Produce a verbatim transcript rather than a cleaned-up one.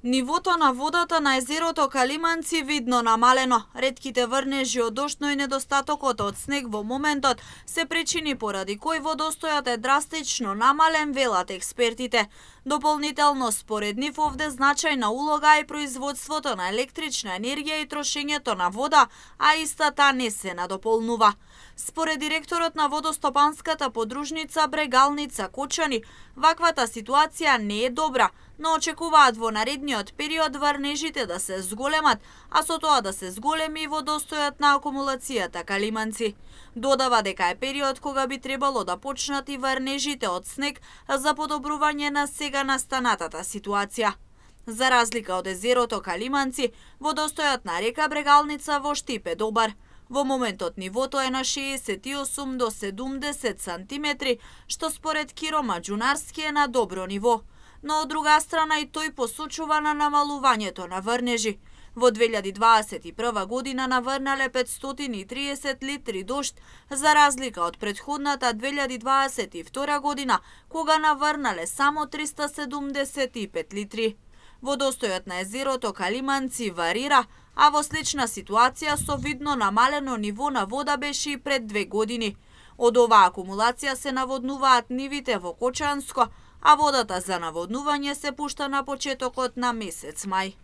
Нивото на водата на езерото Калиманци видно намалено. Ретките врнежи од дожд, но и недостатокот од снег во моментот се причини поради кој водостојот е драстично намален, велат експертите. Дополнително според нив овде значајна улога е производството на електрична енергија и трошењето на вода, а истата не се надополнува. Според директорот на водостопанската подружница Брегалница Кочани, ваквата ситуација не е добра, но очекуваат во наредниот период врнежите да се зголемат, а со тоа да се зголеми и водостојот на акумулацијата Калиманци. Додава дека е период кога би требало да почнат и врнежите од снег за подобрување на сега настанатата ситуација. За разлика од езерото Калиманци, водостојот на река Брегалница во Штип е добар. Во моментот нивото е на шеесет и осум до седумдесет сантиметри, што според Киро Маđунарски е на добро ниво. Но од друга страна и тој посочува на намалувањето на врнежи. Во две илјади дваесет и прва година наврнале петстотини и триесет литри дожд, за разлика од претходната две илјади дваесет и втора година, кога наврнале само триста седумдесет и пет литри. Водостојот на езерото Калиманци варира, а во слична ситуација со видно намалено ниво на вода беше и пред две години. Од оваа акумулација се наводнуваат нивите во Кочанско, а водата за наводнување се пушта на почетокот на месец мај.